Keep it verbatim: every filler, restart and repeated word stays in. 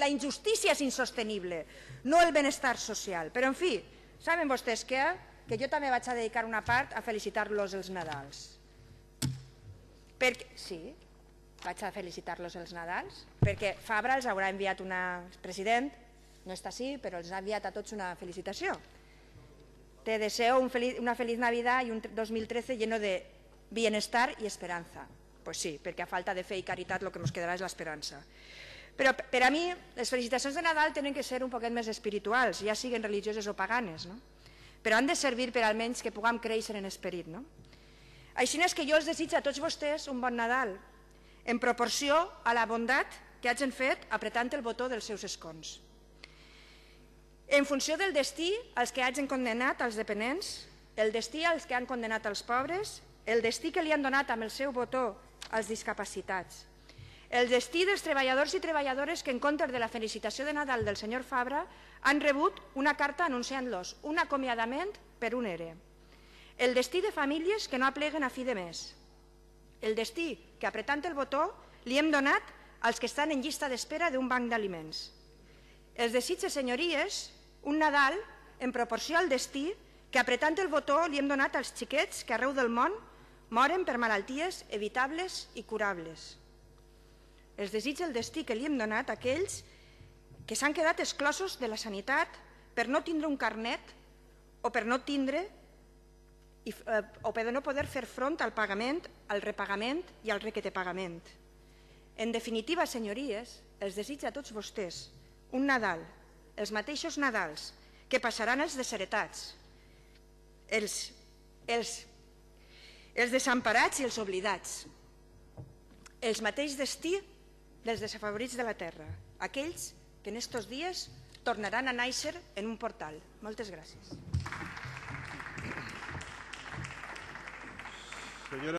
la injustícia és insostenible, no el benestar social. Però, en fi, saben vostès què? Que jo també vaig a dedicar una part a felicitar-los els Nadals. Perquè, sí, vaig a felicitar-los els Nadals, perquè Fabra els haurà enviat una... El president no està així, però els ha enviat a tots una felicitació. Te deseo un feliz, una feliz Navidad y un dos mil trece lleno de bienestar y esperanza. Pues sí, perquè a falta de fe i caritat el que ens quedarà és l'esperança. Però per a mi les felicitacions de Nadal tenen que ser un poquet més espirituals, ja siguin religioses o paganes, no? Però han de servir per almenys que puguem créixer en esperit, no? Així és que jo els desitjo a tots vostès un bon Nadal, en proporció a la bondat que hagin fet apretant el botó dels seus escons. En funció del destí, els que hagin condemnat als dependents, el destí als que han condemnat als pobres, el destí que li han donat amb el seu botó als discapacitats, el destí dels treballadors i treballadores que en comptes de la felicitació de Nadal del senyor Fabra han rebut una carta anunciant-los un acomiadament per un E R E, el destí de famílies que no apleguen a fi de mes, el destí que apretant el botó li hem donat als que estan en llista d'espera d'un banc d'aliments. Els desitge, senyories, un Nadal en proporció al destí que apretant el botó li hem donat als xiquets que arreu del món moren per malalties evitables i curables. Els desitja el destí que li hem donat a aquells que s'han quedat exclosos de la sanitat per no tindre un carnet o per no tindre o per no poder fer front al pagament, al repagament i al requetepagament. En definitiva, senyories, els desitja a tots vostès un Nadal, els mateixos Nadals que passaran els desheretats, els, els, els desemparats i els oblidats, els mateix destí dels desafavorits de la terra, aquells que en estos dies tornaran a néixer en un portal. Moltes gràcies.